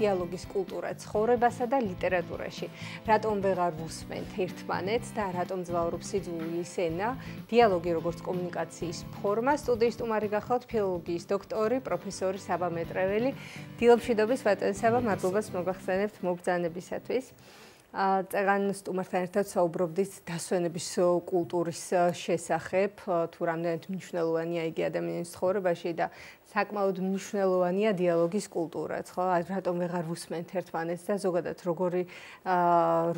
დიალოგის კულტურა ცხოვრებასა და ლიტერატურაში. რატომ ვეღარ ვუსმენთ ერთმანეთს და რატომ ძვაურობს სიძულვილის ენა? დიალოგი როგორც კომუნიკაციის ფორმა. სტუდიის სტუმარი გახლავთ ფილოლოგიის დოქტორი, პროფესორი საბა მეტრეველი. დილამშვიდობის ბატონო საბა, მადლობას მოგახსენებთ მობრძანებისათვის. წეგან სტუმართან ერთად საუბრობდით დასვენების კულტურის შესახებ, თუ რამდენად მნიშვნელოვანია იგი ადამიანის ცხოვრებაში და საკმაოდ მნიშვნელოვანია დიალოგის კულტურაც, ხო? რატომ ვეღარ ვუსმენთ ერთმანეთს და ზოგადად როგორი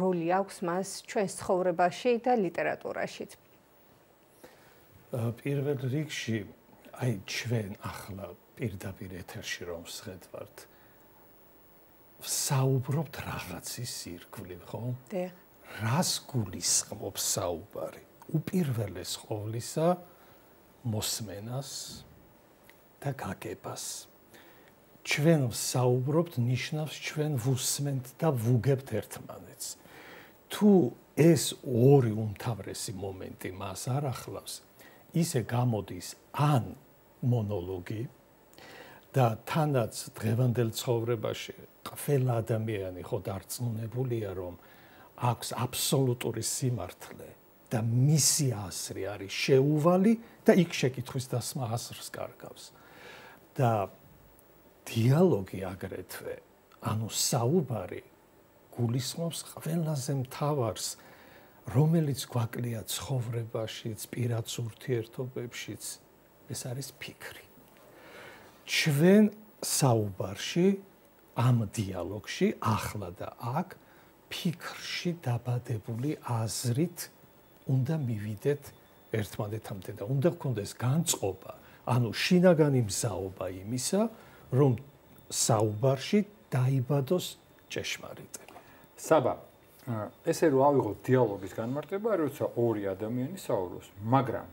როლი აქვს მას ჩვენს ცხოვრებაში და ლიტერატურაშიც? პირველ რიგში, აი ჩვენ ახლა პირდაპირ ეთერში რომ ვსხედავთ, საუბრობთ რაღაცის ირგვლივ, ხო? დიახ. რას გულისხმობს საუბარი? უპირველეს ყოვლისა მოსმენას და გაგებას. ჩვენ საუბრობთ ნიშნავს ჩვენ ვუსმენთ და ვუგებთ ერთმანეთს. თუ ეს ორი უმთავრესი მომენტი მას არ ახლავს, ისე გამოდის ან მონოლოგი და თანაც დღევანდელ ცხოვრებაში ყველა ადამიანი ხო დარწმუნებულია, რომ აქვს აბსოლუტური სიმართლე და მისი აზრი არის შეუვალი და იქ შეკითხვის დასმა აზრს კარგავს. და დიალოგი აგრეთვე, ანუ საუბარი გულისხმობს ყველაზე მთავარს, რომელიც გვაკლია ცხოვრებაშიც, პირად ურთიერთობებშიც, ეს არის ფიქრი. ჩვენ საუბარში, ამ დიალოგში, ახლა და აქ, ფიქრში დაბადებული აზრით უნდა მივიდეთ ერთმანეთამდე და უნდა გქონდეს განწყობა, ანუ შინაგანი მზაობა იმისა, რომ საუბარში დაიბადოს ჭეშმარიტება. საბა, ესე რომ ავიღოთ დიალოგის განმარტება, როცა ორი ადამიანი საუბრობს, მაგრამ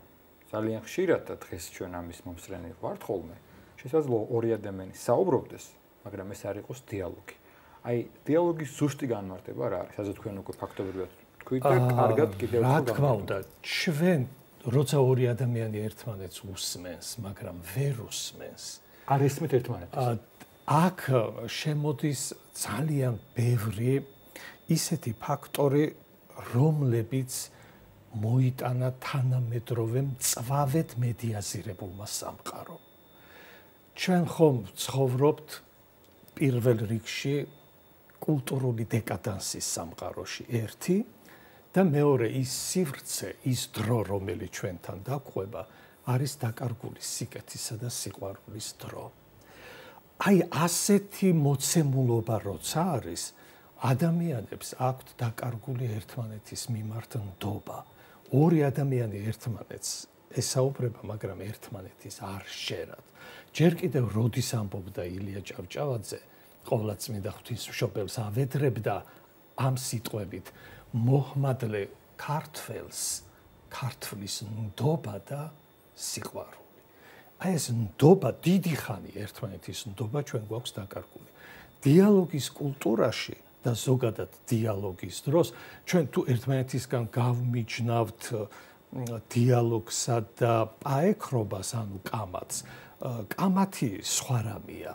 ძალიან ხშირად და დღეს ჩვენ ამის მომსწრენი ვართ ხოლმე, შესაძლოა ორი ადამიანი საუბრობდეს, მაგრამ ეს არ იყოს დიალოგი. აი, დიალოგის ზუსტი განმარტება რა არის? ასე თქვენ უკვე ფაქტობრივად თქვით და კარგად კიდევ რა თქმა უნდა, ჩვენ როცა ორი ადამიანი ერთმანეთს უსმენს, მაგრამ ვერ უსმენს, არ ესმით ერთმანეთს. აქ შემოდის ძალიან ბევრი ისეთი ფაქტორი, რომლებიც მოიტანა თანამედროვე მწვავედ მედიაზირებულმა სამყარომ. ჩვენ ხომ ცხოვრობთ პირველ რიგში კულტურული დეკადანსის სამყაროში ერთი და მეორე ის სივრცე, ის დრო, რომელიც ჩვენთან დაგვყვება, არის დაკარგული სიკეთისა და სიყვარულის დრო. აი ასეთი მოცემულობა როცა არის, ადამიანებს აქვთ დაკარგული ერთმანეთის მიმართ ნდობა. ორი ადამიანი ერთმანეთს ესაუბრება, მაგრამ ერთმანეთის არ შეერათ. ჯერ კიდევ როდის ამბობდა ილია ჭავჭავაძე, ყოვლადწმინდა ღვთისმშობელს ავედრებდა ამ სიტყვებით, მოჰმადლე ქართველს, ქართლის ნდობა და სიყვარული. აი ეს ნდობა, დიდი ხანი ერთმანეთის ნდობა ჩვენ გვაქვს დაკარგული. დიალოგის კულტურაში და ზოგადად დიალოგის დროს ჩვენ თუ ერთმანეთისგან გავმიჯნავთ დიალოგსა და პაექრობას, ანუ კამათს, კამათი სხვა რამეა.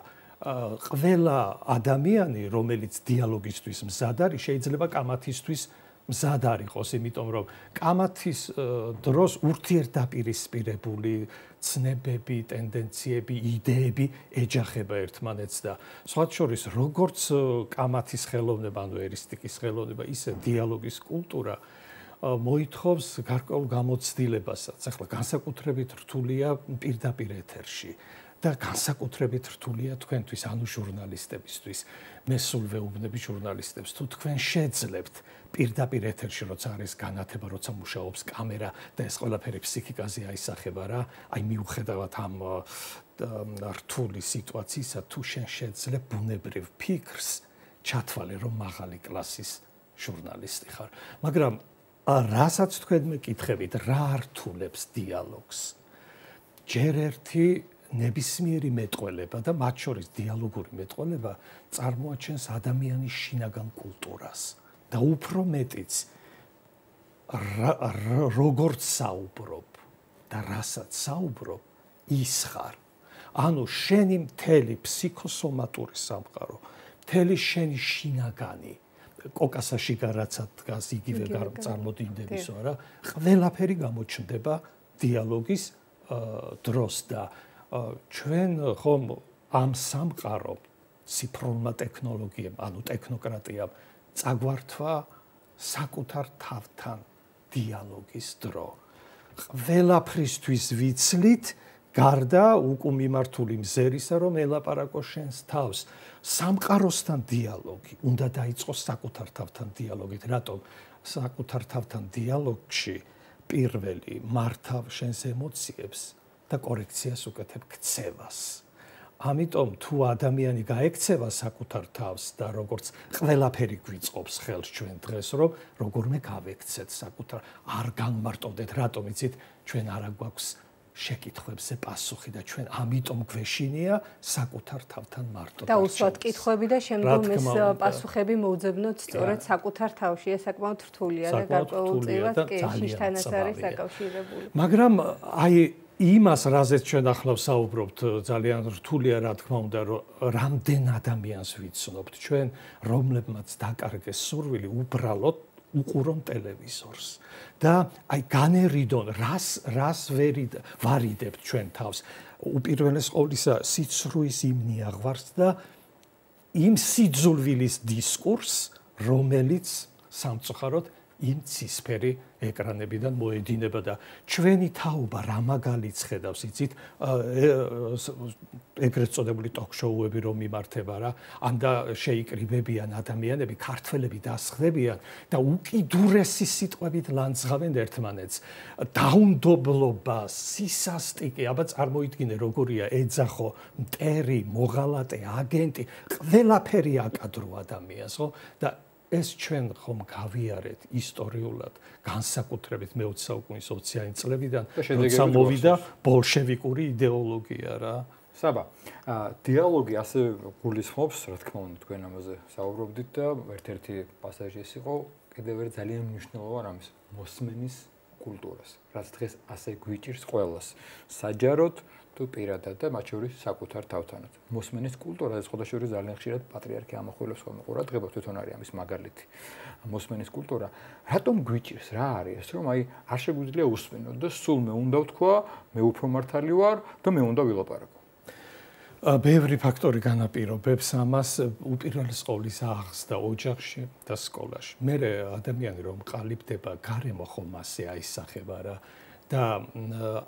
ყველა ადამიანი, რომელიც დიალოგისთვის მზად არის, შეიძლება კამათისთვის მზად არ იყოს, იმიტომ რომ კამათის დროს ურთიერთდაპირისპირებული ცნებები, ტენდენციები, იდეები ეჯახება ერთმანეთს და სხვათა შორის როგორც კამათის ხელოვნება, ანუ ერისტიკის ხელოვნება, ისე დიალოგის კულტურა მოითხოვს გარკვეულ გამოცდილებასაც. ახლა განსაკუთრებით რთულია პირდაპირ ეთერში და განსაკუთრებით რთულია თქვენთვის, ანუ ჟურნალისტებისთვის. მე სულ ვეუბნები ჟურნალისტებს, თუ თქვენ შეძლებთ პირდაპირ ეთერში, როცა არის განათება, როცა მუშაობს კამერა და ეს ყველაფერი ფსიქიკაზე აისახება რა, აი მიუხედავად ამ რთული სიტუაციისა, თუ შენ შეძლებ ბუნებრივ ფიქრს, ჩათვალე რომ მაღალი კლასის ჟურნალისტი ხარ. მაგრამ რასაც თქვენ მეკითხებით, რა რთულებს დიალოგს? ჯერ ერთი ნებისმიერი მეტყველება და მათ შორის დიალოგური მეტყველება წარმოაჩენს ადამიანის შინაგან კულტურას და უფრო მეტიც როგორც საუბრობ და რასაც საუბრობ, ის ხარ. ანუ შენი მთელი ფსიქოსომატური სამყარო, მთელი შენი შინაგანი კოკასაში გარაცად დგას იგივე წარმოდინდებისო რა ყველაფერი გამოჩნდება დიალოგის დროს და ჩვენ ხომ ამ სამყარო ციფრულმა ტექნოლოგიამ ანუ ტექნოკრატიამ წაგვართვა საკუთარ თავთან დიალოგის დრო ყველაფრისთვის ვიცლით გარდა უკუმიმართული მზერისა რომ ელაპარაკო შენს თავს სამყაროსთან დიალოგი უნდა დაიწყოს საკუთარ თავთან დიალოგით რატომ საკუთარ თავთან დიალოგში პირველი მართავ შენს ემოციებს და კორექციას უკეთებ ქცევას ამიტომ თუ ადამიანი გაექცევა საკუთარ თავს და როგორც ყველაფერი გვიწყობს ხელს ჩვენ დღეს რომ როგორმე გავექცეთ საკუთარ არ განმარტოვდეთ რატომ იცით ჩვენ არა გვაქვს შეკითხვებზე პასუხი და ჩვენ ამიტომ გვეშინია საკუთარ თავთან მარტო და უსვათ კითხვები და შემდგომ ეს პასუხები მოვძებნოთ სწორედ საკუთარ თავში ეს საკმაოდ რთულია და გარკვეულწილად კი შიშთანაც არის დაკავშირებული მაგრამ აი იმას რაზეც ჩვენ ახლა ვსაუბრობთ ძალიან რთულია რა თქმა უნდა რომ რამდენ ადამიანს ვიცნობთ ჩვენ რომლებმაც დაკარგეს სურვილი უბრალოდ უყურონ ტელევიზორს და აი განერიდონ რას ვარიდებთ ჩვენ თავს უპირველეს ყოვლისა სიცრუის იმ ნიაღვარს და იმ სიძულვილის დისკურსს რომელიც სამწუხაროდ იმ ცისფერი ეკრანებიდან მოედინება და ჩვენი თაობა რა მაგალითს ხედავს იცით ეგრეთ წოდებული ტოქ-შოუები რომ მიმართება რა ან და შეიკრიბებიან ადამიანები ქართველები დასხდებიან და უკიდურესი სიტყვებით ლანძღავენ ერთმანეთს დაუნდობლობა სისასტიკე აბა წარმოიდგინე როგორია ეძახო მტერი მოღალატე აგენტი ყველაფერი აკადრო ადამიანს ხო და ეს ჩვენ ხომ გავიარეთ ისტორიულად განსაკუთრებით მე-20 საუკუნის 20-იანი წლებიდან როცა მოვიდა ბოლშევიკური იდეოლოგია რა საბა დიალოგი ასე გულისხმობს რა თქმა უნდა თქვენ ამაზე საუბრობდით და ერთ-ერთი პასაჟი ეს იყო კიდევ ერთ ძალიან მნიშვნელოვან ამის მოსმენის კულტურას რაც დღეს ასე გვიჭირს ყველას საჯაროდ თუ პირადად და მათ შორის საკუთარ თავთანაც. მოსმენის კულტურა ეს ხოდაშორის ძალიან ხშირად პატრიარქი ამახვილებს ხოლმე ყურადღებას თვითონ არის ამის მაგალითი. მოსმენის კულტურა რატომ გვიჭირს რა არის ეს რომ აი არ შეგვიძლია უსმენოთ და სულ მე უნდა ვთქვა მე უფრო მართალი ვარ და მე უნდა ვილაპარაკო. ბევრი ფაქტორი განაპირობებს ამას უპირველეს ყოვლისა აღზრდა ოჯახში და სკოლაში. მე ადამიანი რომ ყალიბდება გარემო ხომ ასე აისახება რა და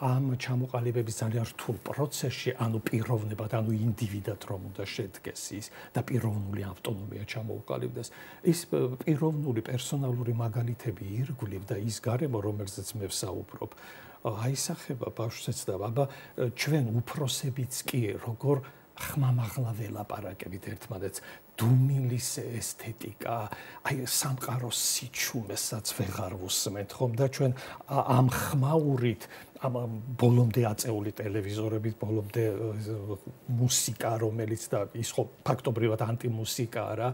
ამ ჩამოყალიბების ძალიან რთულ პროცესში, ანუ პიროვნებად, ანუ ინდივიდად რომ უნდა შედგეს ის და პიროვნული ავტონომია ჩამოუყალიბდეს, ის პიროვნული პერსონალური მაგალითები ირგვლივ და ის გარემო, რომელზეც მე ვსაუბრობ, აისახება ბავშვებს და აბა ჩვენ უფროსებიც კი როგორ ხმამაღლა ველაპარაკებით ერთმანეთს დუმილის ესთეტიკა, აი სამყაროს სიჩუმესაც ვეღარ ვუსმენთ ხომ და ჩვენ ამ ხმაურით ამ ბოლომდე აწეული ტელევიზორებით, ბოლომდე მუსიკა, რომელიც და ის ხო ფაქტობრივად ანტიმუსიკაა რა,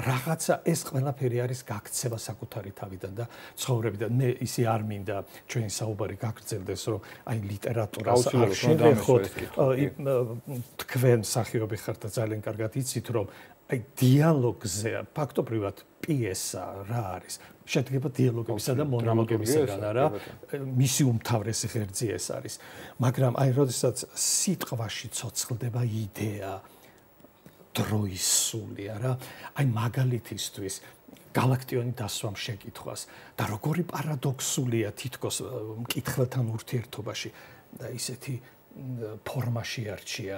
რაღაცა ეს ყველაფერი არის გაქცევა საკუთარი თავიდან და ცხოვრებიდან. მე ისე არ მინდა ჩვენი საუბარი გაგრძელდეს, რომ აი ლიტერატურას არ შევეხოთ, თქვენ მსახიობი ხართ და ძალიან კარგად იცით, რომ აი დიალოგზე ფაქტობრივად პიესა რა არის? შედგება დიალოგებისა და მონოლოგებისგან რა. მისი უმთავრესი ღერძი ეს არის. მაგრამ აი როდესაც სიტყვაში ცოცხლდება იდეა დროის სულია რა. აი მაგალითისთვის galaktioni დასვამ შეკითხვას და როგორი პარადოქსულია თითქოს მკითხველთან ურთიერთობაში და ისეთი ფორმაში არჩია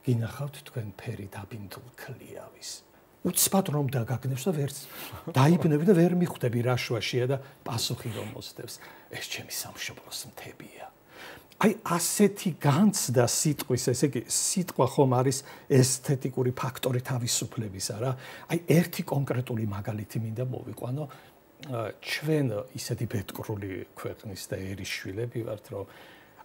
გინახავთ თქვენ ფერი დაბინდულ ქლიავის. უცბად რომ დაგაგნებს და ვერც დაიბნები და ვერ მიხვდები რა შუაშია და პასუხი რომ მოსდევს. ეს ჩემი სამშობლოს მთებია. აი ასეთი განცდა სიტყვის, ესე იგი სიტყვა ხომ არის ესთეტიკური ფაქტორი თავისუფლებისა რა. აი ერთი კონკრეტული მაგალითი მინდა მოვიყვანო. ჩვენ ისეთი ბედკრული ქვეყნის და ერის შვილები ვართ, რომ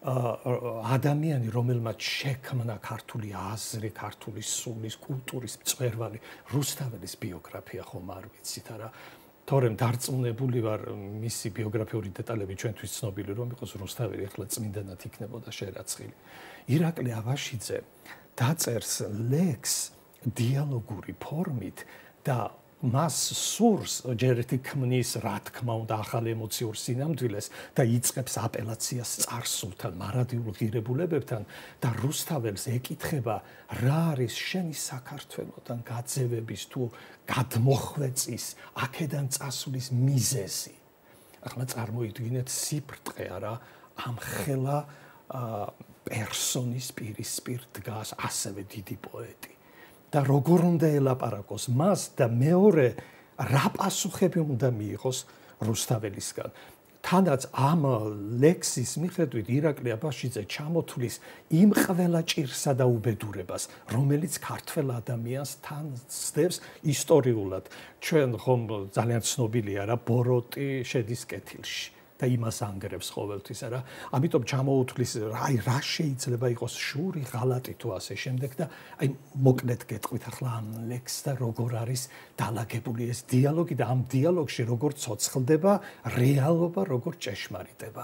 ადამიანი, რომელმაც შექმნა ქართული აზრი, ქართული სულის, კულტურის მწვერვალი, რუსთაველის ბიოგრაფია ხომ არ ვიცით არა? თორემ დარწმუნებული ვარ, მისი ბიოგრაფიული დეტალები ჩვენთვის ცნობილი რომ იყოს რუსთაველი ახლა წმინდანად იქნებოდა შერაცხილი. ირაკლი აბაშიძე დაწერს ლექსს დიალოგური ფორმით და მას სურს ჯერ ერთი ქმნის რა თქმა უნდა ახალ ემოციურ სინამდვილეს და იწყებს აპელაციას წარსულთან, მარადიულ ღირებულებებთან და რუსთაველს ეკითხება რა არის შენი საქართველოსთან გაძევების თუ გადმოხვეწის აქედან წასulis მიზეზი. ახლა წარმოიდგინეთ სიფრთხე არა ამ ხელა პერსონის პირისპირ დგას ასევე დიდი პოეტი. და როგორ უნდა ელაპარაკოს მას და მეორე რა პასუხები უნდა მიიღოს რუსთაველისგან. თანაც ამ ლექსის მიხედვით ირაკლი აბაშიძე ჩამოთვლის იმ ყველა ჭირსა და უბედურებას, რომელიც ქართველ ადამიანს თან სდევს ისტორიულად. ჩვენ ხომ ძალიან ცნობილია რა ბოროტი შედის კეთილში და იმას ანგრევს ყოველთვის არა. ამიტომ ჩამოუთვლის რა შეიძლება იყოს შური, ღალატი თუ ასე შემდეგ და აი მოკლედ გეტყვით ახლა ამ ლექსს და როგორ არის დალაგებული ეს დიალოგი და ამ დიალოგში როგორ ცოცხლდება რეალობა, როგორ ჭეშმარიტება.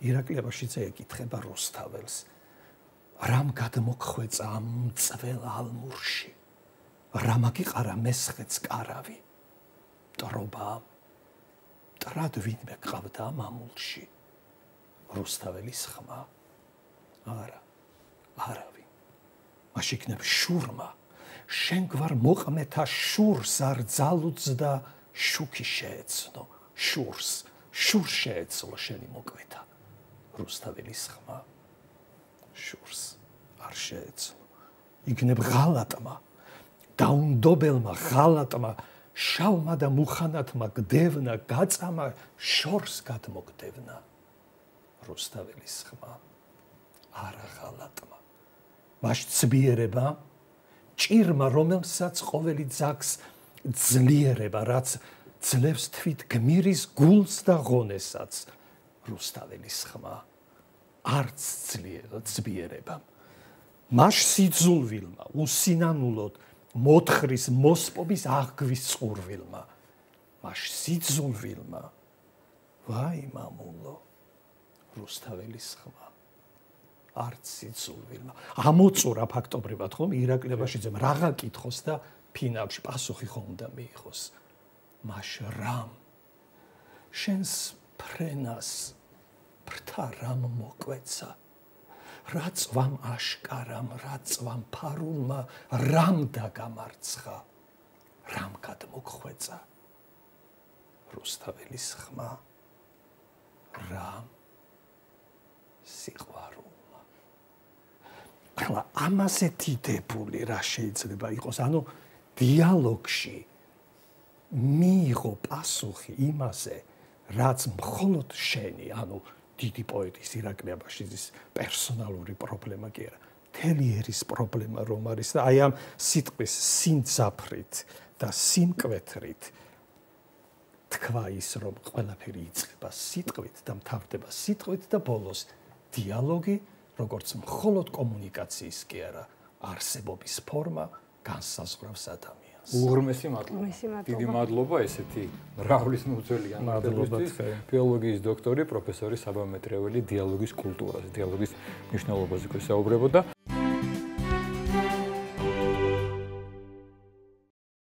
ირაკლი აბაშიძე ეკითხება რუსთაველს. რამ გადმოგხვეწა ამ წվել ალმურში? რა მაგიყარა მესხეთს კარავი? ტრობა ტრად ვინმე ყავდა მამულში. რუსთაველის ხმა. არავინ. მაშინ იქნებ შურმა. შენ გვარ მოყმეთა შურს არ ძალუძდა შუქი შეეცნო. შურს შეეცლო შენი მოკვეთა. რუსთაველის ხმა. შურს არ შეეცლო. იქნებ ღალატმა. დაუნდობელმა ღალატმა შავმა და მუხანათმა გდევნა გაწამა შორს გადმოგდევნა. რუსთაველის ხმა. არა ღალატმა. მას ცბიერება ჭირმა რომელსაც ყოველი ძაგს ძლიერება რაც ძლევს თვით გმირის გულს და ღონესაც. რუსთაველის ხმა. არც ცბიერება. მას სიძულვილმა უსინანულოდ მოთხრის მოსპობის აღგვის წყურვილმა. მას სიძულვილმა ვაი მამულო. რუსთაველის ხმა. არც სიძულვილმა. ამოწურა ფაქტობრივად ხომ ირაკლი აბაშიძემ რაღა კითხოს და ფინალში პასუხი ხომ უნდა მიიღოს. მას რამ შენს ფრენას ფრთა რამ მოკვეცა. რა წვამ აშკარამ, რა წვამ ფარულმა, რამ დაგამარცხა, რამ გადმოგხვეწა. რუსთაველის ხმა. რამ სიყვარულმა. ახლა ამაზე დიდებული რა შეიძლება იყოს? ანუ დიალოგში მიიღო პასუხი იმაზე, რაც მხოლოდ შენი, ანუ დიდი პოეტის ირაკლი აბაშიძის პერსონალური პრობლემა კი არა, მთელი ერის პრობლემა რომ არის და აი ამ სიტყვის სიმძაფრით და სიმკვეთრით თქვა ის რომ ყველაფერი იწყება სიტყვით და მთავრდება სიტყვით და ბოლოს დიალოგი როგორც მხოლოდ კომუნიკაციის კი არა, არსებობის ფორმა განსაზღვრავს ადამიანს. უღრმესი მადლობა. დიდი მადლობა ესეთი მრავლის მოძველიან ინტერვიუსთვის. ფილოლოგიის დოქტორი, პროფესორი საბა მეტრეველი დიალოგის კულტურაზე, დიალოგის მნიშვნელობაზე გვესაუბრებოდა.